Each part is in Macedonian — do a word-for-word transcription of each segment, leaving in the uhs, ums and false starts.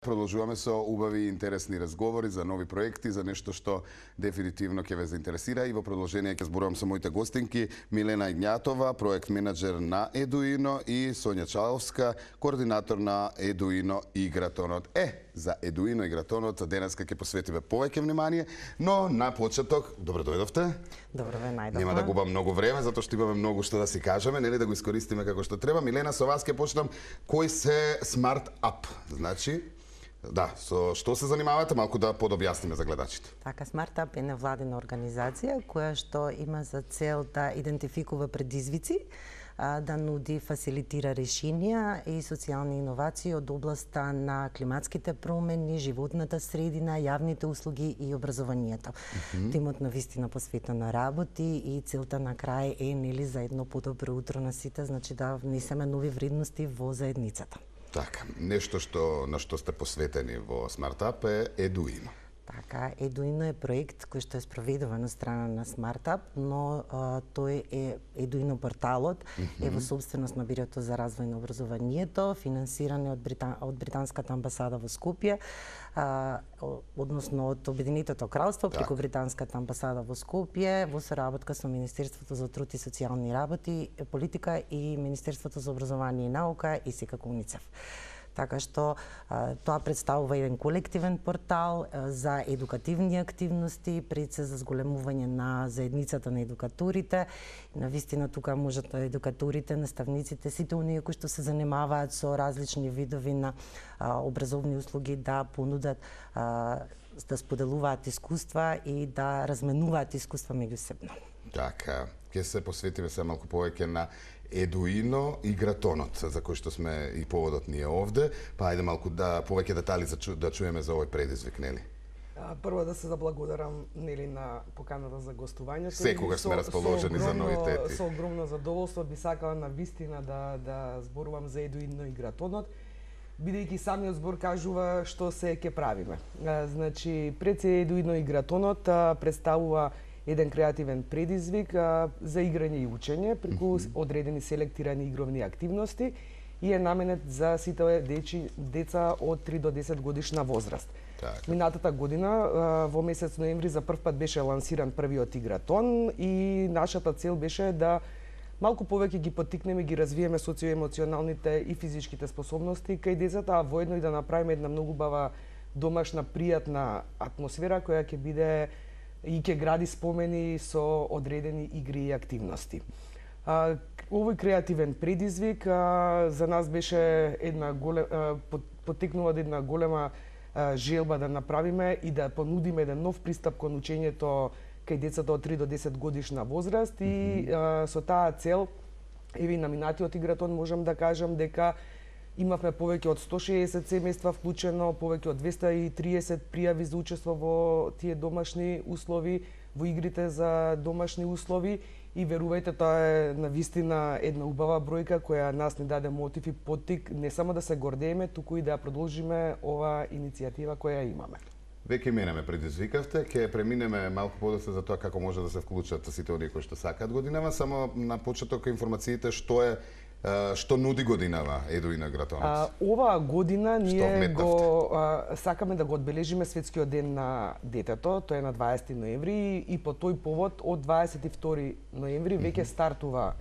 Продолжуваме со убави и интересни разговори за нови проекти, за нешто што дефинитивно ќе ве заинтересира, и во продолжение ќе зборувам со моите гостинки Милена Игњатова, проект менаџер на Едуино, и Сонја Чаловска, координатор на Едуино Игратонот. Е, за Едуино Игратонот денеска ќе посветиме повеќе внимание, но на почеток, добро дојдовте. Добро ве најдовме. Нема да губам многу време, затоа што имаме многу што да си кажеме, нели, да го искористиме како што треба. Милена, со вас ќе почнам. Кој се Smart Up? Значи, да, со што се занимавате, малку да подобјасниме за гледачите. Така, Smart Up е невладина организација која што има за цел да идентификува предизвици, да нуди, фасилитира решенија и социјални иновации од областа на климатските промени, животната средина, јавните услуги и образованието. Mm-hmm. Тимот на вистина посветено работи и целта на крај е, нели, за едно подобро утро на сите, значи да внесеме нови вредности во заедницата. Така, нешто што на што сте посветени во Smart Up е Едуино. Така, Едуино е проект кој што е спроведуван од страна на Smart Up, но а, тој е Едуино порталот, mm-hmm. е во собственост на Бирото за развој на образованието, финансиран од, Британ... од Британската амбасада во Скопје, а, односно од Обединетото кралство, преку так. Британската амбасада во Скопје, во соработка со Министерството за труд и социјални работи, политика и Министерството за образование и наука и секако УНИЦЕФ. Така што а, тоа представува еден колективен портал а, за едукативни активности, пред се за зголемување на заедницата на едукаторите. Навистина тука можат едукаторите, наставниците, сите оние кои што се занимаваат со различни видови на а, образовни услуги да понудат, а, да споделуваат искуства и да разменуваат искуства меѓусебно. Така, ќе се посветиме се малку повеќе на Едуино Игратонот, за кој што сме и поводот ние овде, па ајде малку да повеќе детали за чу, да чуеме за овој предизвик, нели? Прво да се заблагодарам, нели, на поканата за гостувањето. Секогаш сме расположени за новитети. Со огромно задоволство би сакала на вистина да да зборувам за Едуино Игратонот, бидејќи самиот збор кажува што се ќе правиме. Значи, пред се Едуино Игратонот представува еден креативен предизвик а, за играње и учење преку mm-hmm. одредени селектирани игровни активности и е наменет за сите дечи, деца од три до десет годишна возраст. Так. Минатата година, а, во месец ноември, за прв пат беше лансиран првиот Игратон и нашата цел беше да малку повеќе ги поттикнеме, ги развиеме социоемоционалните и физичките способности кај децата, а воедно и да направиме една многу бава домашна, пријатна атмосфера која ќе биде и ќе гради спомени со одредени игри и активности. А, овој креативен предизвик а, за нас беше една голема, поттикнува една голема а, желба да направиме и да понудиме еден нов пристап кон учењето кај децата од три до десет годишна возраст и mm-hmm. а, со таа цел, еви на минатиот Игратон можам да кажам дека имавме повеќе од сто шеесет семејства вклучено, повеќе од двесте и триесет пријави за учество во тие домашни услови, во игрите за домашни услови и верувајте, тоа е навистина една убава бројка која нас ни даде мотив и поттик не само да се гордееме, туку и да продолжиме ова иницијатива која имаме. Веќе менеме предизвикавте, ќе преминеме малку подоцна за тоа како може да се вклучат сите оние кои што сакаат годинава, само на почеток информациите што е што нуди годинава Едуино Игратонот? Оваа година ние го а, сакаме да го одбележиме Светскиот ден на детето, тоа е на дваесети ноември и по тој повод од дваесет и втори ноември веќе стартува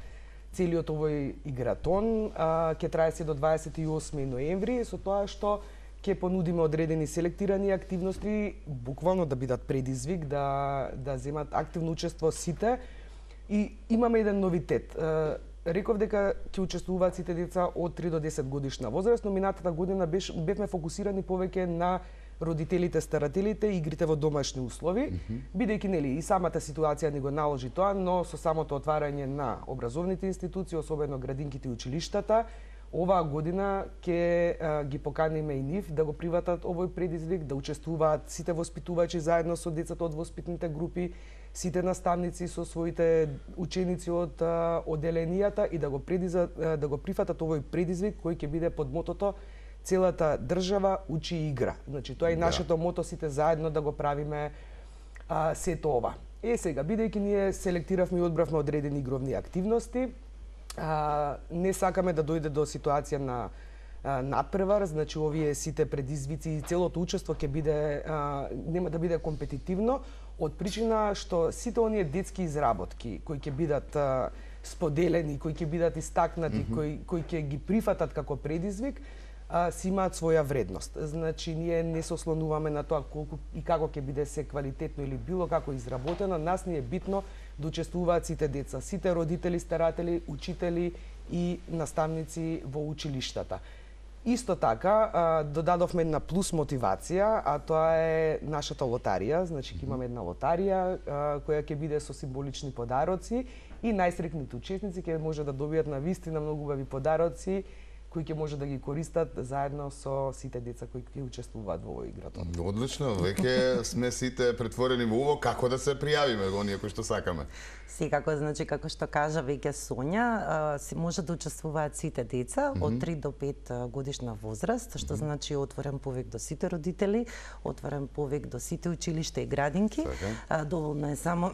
целиот овој Игратон, а, ќе трае се до дваесет и осми ноември, со тоа што ќе понудиме одредени селектирани активности, буквално да бидат предизвик, да да земат активно учество сите и имаме еден новитет. Реков дека ќе учествуваат сите деца од три до десет годишна возраст, но минатата година беше, бевме фокусирани повеќе на родителите, старателите и игрите во домашни услови, mm-hmm. бидејќи нели и самата ситуација ни го наложи тоа, но со самото отварање на образовните институции, особено градинките и училиштата, оваа година ќе а, ги поканиме и нив да го приватат овој предизвик, да учествуваат сите воспитувачи заедно со децата од воспитните групи, сите наставници со своите ученици од а, оделенијата и да го предиза, да го прифатат овој предизвик кој ќе биде под мотото целата држава учи и игра. Значи тоа е да. Нашето мото, сите заедно да го правиме а, сето ова. Е сега, бидејќи ние селектиравме и одбравме одредени игровни активности, а, не сакаме да дојде до ситуација на надпревар, значи овие сите предизвици и целото учество ќе биде а, нема да биде компетитивно од причина што сите оние детски изработки кои ќе бидат а, споделени, кои ќе бидат истакнати, mm -hmm. кои кои ќе ги прифатат како предизвик, а, си имаат своја вредност. Значи ние не се ослонуваме на тоа колку и како ќе биде се квалитетно или било како изработено, нас ни е битно да учествуваат сите деца, сите родители, старатели, учители и наставници во училиштата. Исто така, додадовме една плюс мотивација, а тоа е нашата лотарија. Значи, ќе имаме една лотарија која ќе биде со символични подароци и најсрекните учесници ќе може да добијат на вистина многу убави подароци кои ќе може да ги користат заедно со сите деца кои ќе учествуваат во овој играто. Одлично, веќе сме сите претворени во уво како да се пријавиме оние кои што сакаме. Секако, значи, како што кажа веќе Сонја, си може да учествуваат сите деца mm -hmm. од три до пет годишна возраст, што mm -hmm. значи отворен повик до сите родители, отворен повик до сите училишта и градинки. Okay. Доволно е само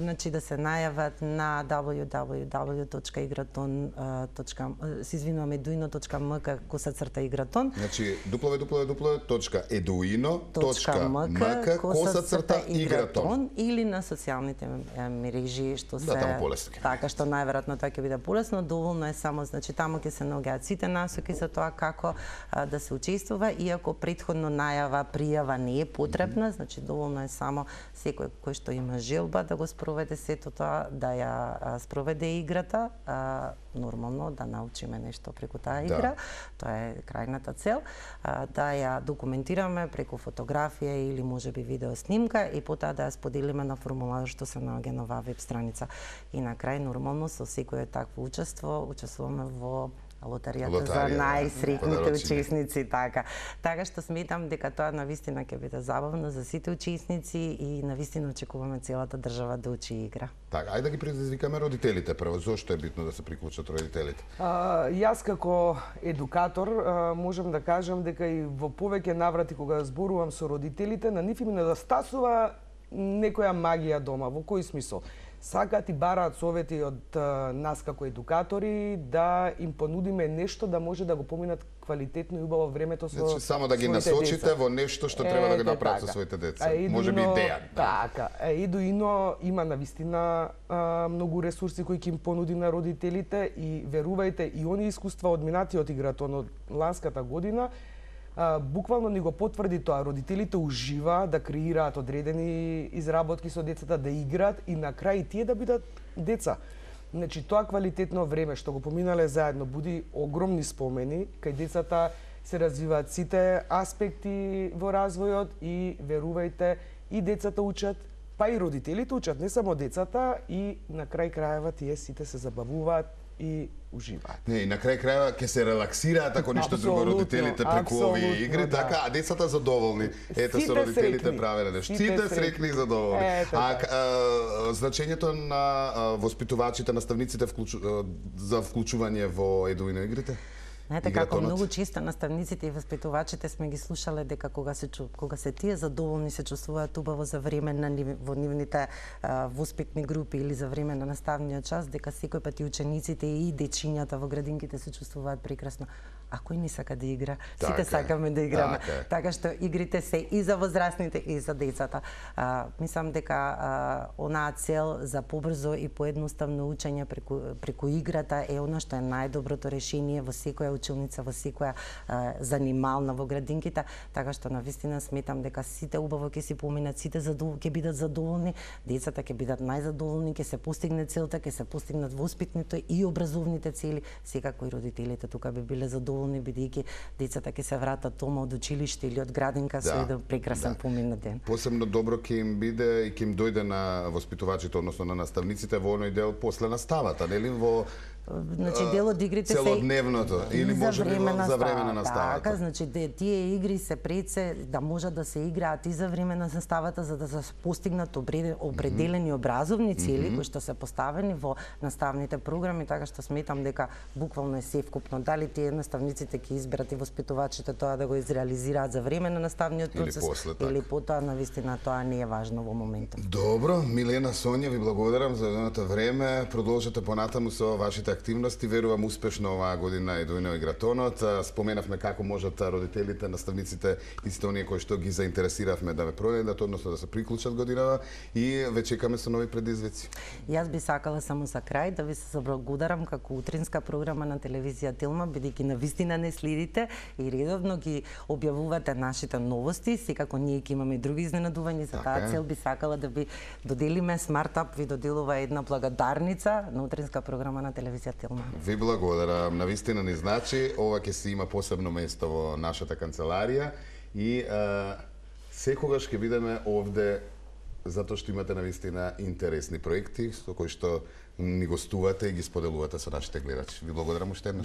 значи да се најават на дабљу дабљу дабљу точка игратон точка се извинуваме едуино точка ем ка косацрта игратон. Значи дабљу дабљу дабљу точка едуино точка ем ка косацрта игратон или на социјалните мрежи што се да, така што најверојатно тоа ќе биде полесно, доволно е само значи таму ќе се наоѓаат сите насоки за тоа како а, да се учествува, иако претходно најава, пријава не е потребна, mm -hmm. значи доволно е само секој кој што има желба да го спроведе сето тоа, да ја а, спроведе играта, а, нормално да научиме нешто преку таа игра, да. Тоа е крајната цел, а, да ја документираме преку фотографија или можеби видео снимка и потоа да ја споделиме на формулар што се наоѓа на оваа веб страница. И на крај нормално со секое такво учество учествуваме во лотаријата Лотарија, за најсреќните учесници, така. Така што сметам дека тоа навистина ќе биде забавно за сите учесници и навистина очекуваме целата држава да учи игра. Така, ајде да ги предизвикаме родителите прво. Зошто е битно да се приклучат родителите? А, јас како едукатор а, можам да кажам дека и во повеќе наврати кога зборувам со родителите, на нив им недостасува некоја магија дома. Во кој смисол? Сакаат и бараат совети од а, нас како едукатори да им понудиме нешто да може да го поминат квалитетно и убаво времето со значи, само да ги насочите деца. Во нешто што треба е, да го направат така. Со своите деца. Може би идеја. Така. Едуино има навистина а, многу ресурси кои ќе им понуди на родителите и верувајте и они искуства од минатиот игратон од ланската година Uh, буквално ни го потврди тоа. Родителите уживаат да креираат одредени изработки со децата, да играат и на крај тие да бидат деца. Значи тоа квалитетно време што го поминале заедно буди огромни спомени, кај децата се развиваат сите аспекти во развојот и верувајте и децата учат, па и родителите учат, не само децата и на крај крајава тие сите се забавуваат и уживаат. Не, и на крај крајава ќе се релаксираат ако ништо друго родителите преку овие игри, да. Така, а децата задоволни. Ето со родителите правеле нешто. Сите среќни и задоволни. Ето, а, а, значењето на а, воспитувачите, наставниците вклучу, а, за вклучување во едуино игрите? Знаете како многу често наставниците и воспитувачите сме ги слушале дека кога се кога се тие задоволни се чувствуваат убаво за време на во нивните а, воспитни групи или за време на наставниот час, дека секој пат и учениците и дечињата во градинките се чувствуваат прекрасно. А кој не сака да игра? Сите така, сакаме да играме. Така, така што игрите се и за возрастните и за децата. А, мислам дека а, онаа цел за побрзо и поедноставно учење преку преку играта е она што е најдоброто решение во секоја училница, во секоја а, занимална во градинките, така што навистина сметам дека сите убаво ќе си поминат, сите задоволни ќе бидат задоволни, децата ќе бидат најзадоволни, ќе се постигне целта, ќе се постигнат воспитните и образовните цели, секако и родителите тука би биле задоволни, бидејќи децата ќе се вратат дома од училиште или од градинка со еден прекрасен да. Поминат ден. Посебно добро ќе им биде и ќе им дојде на воспитувачите, односно на наставниците во оној дел после наставата, нели во значи дел од игрите се целодневното или може би за време на наставата. Така, значи тие игри се пред се да можат да се играат и за време на наставата за да се постигнат определени образовни цели mm -hmm. кои што се поставени во наставните програми, така што сметам дека буквално е севкупно дали тие наставниците ќе изберат и воспитувачите тоа да го изреализираат за време на наставниот процес или, после, или потоа навистина тоа не е важно во моментот. Добро, Милена, Сонја, ви благодарам за едното време. Продолжете понатаму со вашите активности, верувам успешно оваа година Едуино и Гратонот. Споменавме како можат родителите, наставниците, исто оние кои што ги заинтересиравме да ве пронајдат, односно да се приклучат годинава и ве чекаме со нови предизвици. Јас би сакала само за крај да ви се заблагодарам како утринска програма на телевизија Тилма, бидејќи навистина не следите и редовно ги објавувате нашите новости, секако ние ќе имаме други изненадувања, за таа цел би сакала да ви доделиме Смартап, ви доделува една благодарница на утринска програма на телевизија Тилма. Ви благодарам, навистина ни значи, ова ќе си има посебно место во нашата канцеларија и а, секогаш ќе бидеме овде затоа што имате навистина интересни проекти со кои што ни гостувате и ги споделувате со нашите гледачи. Ви благодарам уште еднаш.